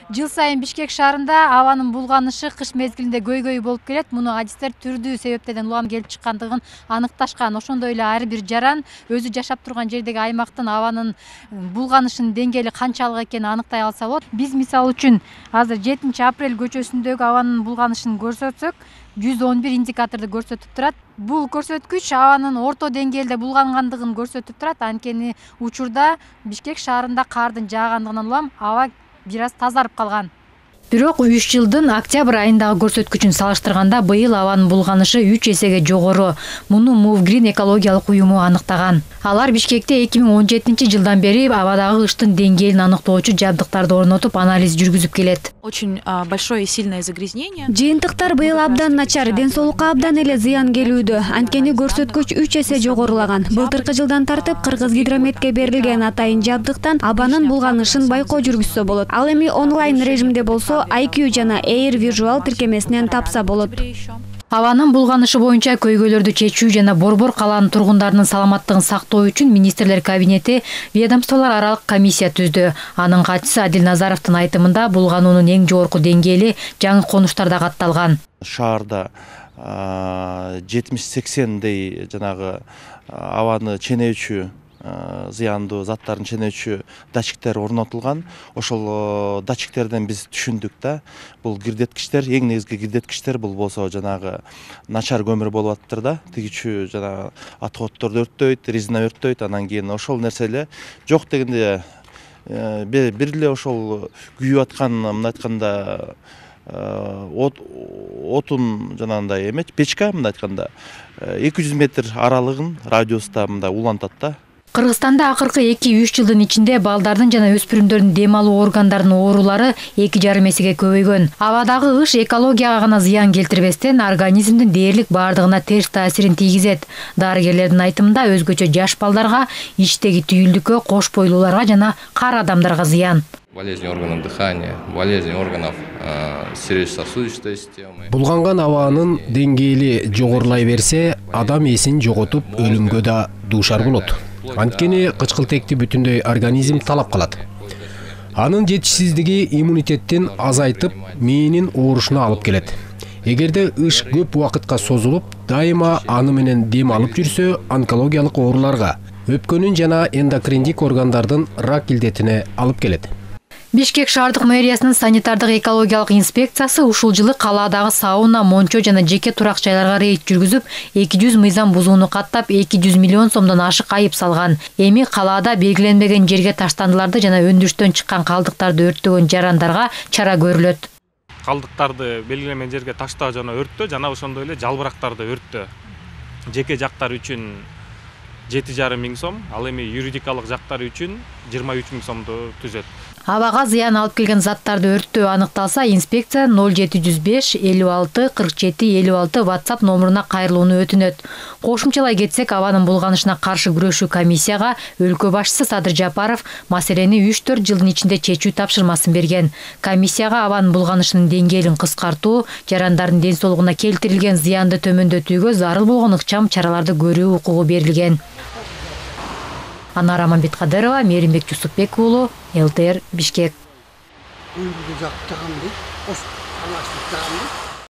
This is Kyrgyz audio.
Жыл сайын Бишкек шаарында абанын булганышы кыш мезгилинде көйгөй болуп келет. Муну адистер түрдүү себептерден улам келип чыккандыгын аныкташкан. Ошондой эле ар бир жаран өзү жашап турган жердеги аймактын абанын булганышынын деңгээли канчалык экенин аныктай алса болот. Биз мисалы үчүн азыр 7 апрель көчөсүндөгү абанын булганышын көрсөтсөк, 111 индикаторду көрсөтүп турат. Бул көрсөткүч абанын орто деңгээлде булгангандыгын көрсөтүп турат. Анткени учурда Бишкек шаарында кардын жаагандыгынан улам аба бир аз тазарып калган. Бирок 3 жылдын октябрь айындагы көрсөткүчүн салыштырганда быйыл абанын булганышы 3 эсеге жогору. Муну Movgreen экологиялык уюму аныктаган. Алар Бишкекте 2017 жылдан бери абадагы кыштын деңгээлин аныктоочу жабдыктарды орнотуп, анализ жүргүзүп келет. Очень большое и сильное загрязнение. Жыйынтыктар быйыл абдан начар, ден соолукка абдан эле зыян келүүдө. Анткени көрсөткүч 3 эсе жогорулаган. Былтыркы жылдан тартып Кыргыз гидрометке берилген атайын жабдыктан абанын булганышын байкоо жүргүзсө болот. Ал эми онлайн режимде болсо IQ жана Air Visual тиркемесинен тапса болот. Абанын булганышы боюнча көйгөйлөрдү чечүү жана Борбор калаанын тургундарынын саламаттыгын сактоо үчүн министрлер кабинети ведомстволор аралык комиссия түздү. Анын катчысы Адил Назаровдун айтымында булгануунун эң жогорку деңгээли жаңы конуштарда катталган. Шаарда 70-80дей жанагы абаны ченөөчү зыяндуу заттарын ченөөчү датчиктер орнотулган. Ошол датчиктерден биз түшүндүк да, бул кирдеткичтер, эң негизги кирдеткичтер бул болсо жанагы начар көмүр болуп атыптыр да, тигичүү жана отходдорду өрттөйт, резина өрттөйт, анан кийин ошол нерселер жок дегенде бир эле ошол күйүп аткан, мындай айтканда отун жанагындай эме печка, мындай айтканда 200 метр аралыгын радиуста мындай улантат да. Кыргызстанда акыркы 2-3 жылдын ичинде балдардын жана өспүрүмдөрдүн дем алуу органдарынын оорулары 2,5 эсеге көбөйгөн. Абадагы кыш экологияга гана зыян келтирбестен организмдин дээрлик баардыгына терс таасирин тийгизет. Дарыгерлердин айтымында өзгөчө жаш балдарга, ичтеги түйүлдүккө, кош бойлууларга жана кар адамдарга зыян. Болезнь органов дыхания, болезнь органов сердечно-сосудистой системы. Булганган абанын деңгээли жогорулай берсе, адам эсин жоготуп өлүмгө да дуушар болот. Анткени кычкылтекти бүтүндөй организм талап калат. Анын жетишсиздиги иммунитеттин азайтып, мээнин оорушуна алып келет. Эгерде ыш көп убакытка созулуп, дайыма аны менен дем алып жүрсө, онкологиялык ооруларга, өпкөнүн жана эндокриндик органдардын рак илдетине алып келет. Бишкек шаардык мэриясынын санитардык экологиялык инспекциясы ушул жылы калаадагы сауна, мончо жана жеке турак жайларга рейд жүргүзүп, 200 мыйзам бузууну каттап, 200 миллион сомдон ашык айып салган. Эми калаада белгиленбеген жерге таштандыларды жана өндүрүштөн чыккан калдыктарды өрттөгөн жарандарга чара көрүлөт. Калдыктарды белгиленген жерге таштоо жана өрттөө жана ошондой эле жалбырактарды өрттөө. Жеке жактар үчүн 7,5 миң сом, ал эми юридикалык жактар үчүн 23 миң сомду түзөт. Абага зыян алып келген заттарды өрттөө аныкталса, инспекция 0705 56 47 56 WhatsApp номуруна кайрылууну өтүнөт. Кошумчалай кетсек, абанын булганышына каршы күрөшүү комиссияга өлкө башчысы Садыр Жапаров маселени 3-4 жылдын ичинде чечүү тапшырмасын берген. Комиссияга абанын булганышынын деңгээлин кыскартуу, жарандардын ден соолугуна келтирилген зыянды төмөндөтүүгө зарыл болгон ыкчам чараларды көрүү укугу берилген. Анара Аманбеткадырова, Мээримбек Жусупбек уулу, ЛТР Бишкек.